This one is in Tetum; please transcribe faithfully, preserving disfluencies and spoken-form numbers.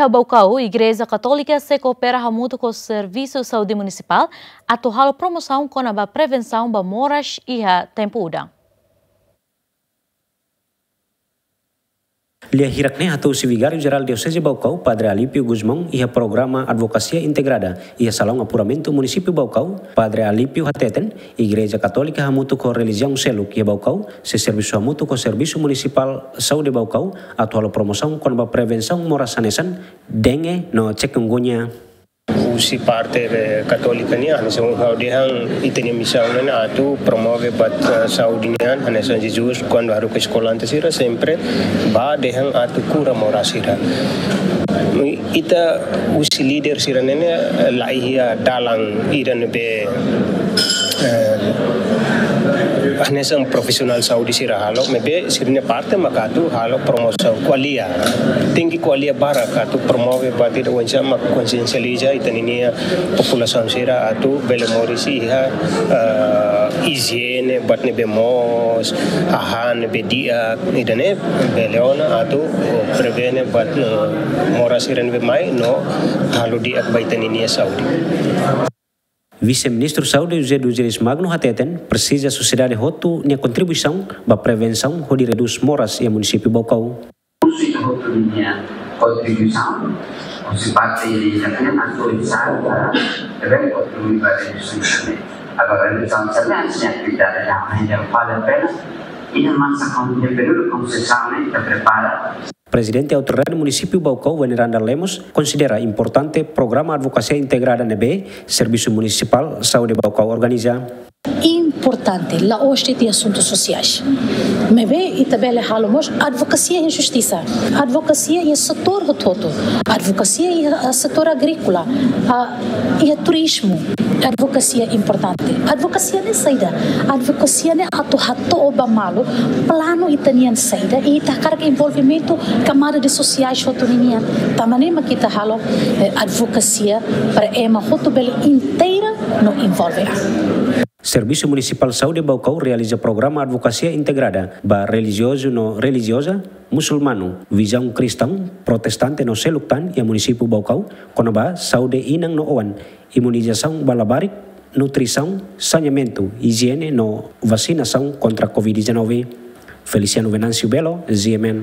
Baucau, Igreja Katólika sei koopera hamutuk ho Servisu Saúde Munisipál atu halo promosaun kona-ba prevensaun ba moras iha tempu udan. Lia hirak ne'e hato'o husi Vigáriu Jerál Dioseze Baucau, Padre Alípio Gusmão, iha programa Advokasia Integrada iha Salaun Apuramentu Munisípiu Baucau. Padre Alípio hateten, Igreja Katólika hamutuk ho relijiaun seluk iha Baucau sei servisu hamutuk ho Servisu Munisipál Saúde Baucau atu halo promosaun kona-ba prevensaun moras hanesan dengue no chikungunya. Husi parte, eh, Katólika nian, hanesan ha'u dehan ita-nia misaun ne'e atu promove buat, eh, saúde nian, hanesan Jesus kuandu haruka eskolante sira sempre bá dehan atu kura moras sira. Ita husi líder sira ne'e, eh, la iha dalan ida ne'ebé, eh, hanesan profisionál saúde sira halo, maibé sira-nia parte maka atu halo promosaun, ko'alia. Tenke ko'alia barak atu promove buat ida oinsá mak konsiensializa ita-ninia populasaun sira atu bele moris iha, eh, ijiene, buat ne'ebé moos, hahán ne'ebé di'ak, ida-ne'e bele ona atu prevene buat, eh, moras sira ne'ebé mai no halo di'ak ba ita-ninia saúde. Vise-Ministru Saúde José dos Reis Magno hateten, presiza sosiedade hotu nia kontribuisaun ba prevensaun hodi redús moras iha Munisípiu Baucau. Husi hotu ninia kontribuisaun, husi parte ida-ne'e atu oinsá para bele kontribui ba redús moras. Agora, redús moras ne'e atividade yang hanya pada pena, ini masa kau punya períodu konsesiaun ne'e ita prepara. Prezidente Autoridade Munisípiu Baucau, Veneranda Lemos, konsidera importante programa advokasia integrada ne'ebé Servisu Munisipál Saúde Baucau organiza. Importante, la'ós de'it iha asuntu sosiais. Maibé ita bele halo mós advokasia iha justisa, advokasia iha setór hotu-hotu, advokasia iha, ah, setór agríkola, ah, iha turizmu. Advokasia importante. Advokasia ne'e saida? Advokasia ne'e atu hato'o ba malu planu ita-nian saida, i ita hakarak envolvimentu kamada de sosiais hotu ninian. Tanba ne'e mak ita halo, eh, advokasia para ema hotu bele inteira no envolve an. Servisu Munisipál Saúde Baucau realiza programa advokasia integrada ba relijiozu no relijioza, musulmanu, vizaun kristaun, protestante no seluk tan iha Munisípiu Baucau, kona-ba saúde inan no oan, imunizasaun ba labarik, nutrisaun, saneamentu, ijiene no vasinasaun kontra covid dezanove. Feliciano Venâncio Belo, G M N.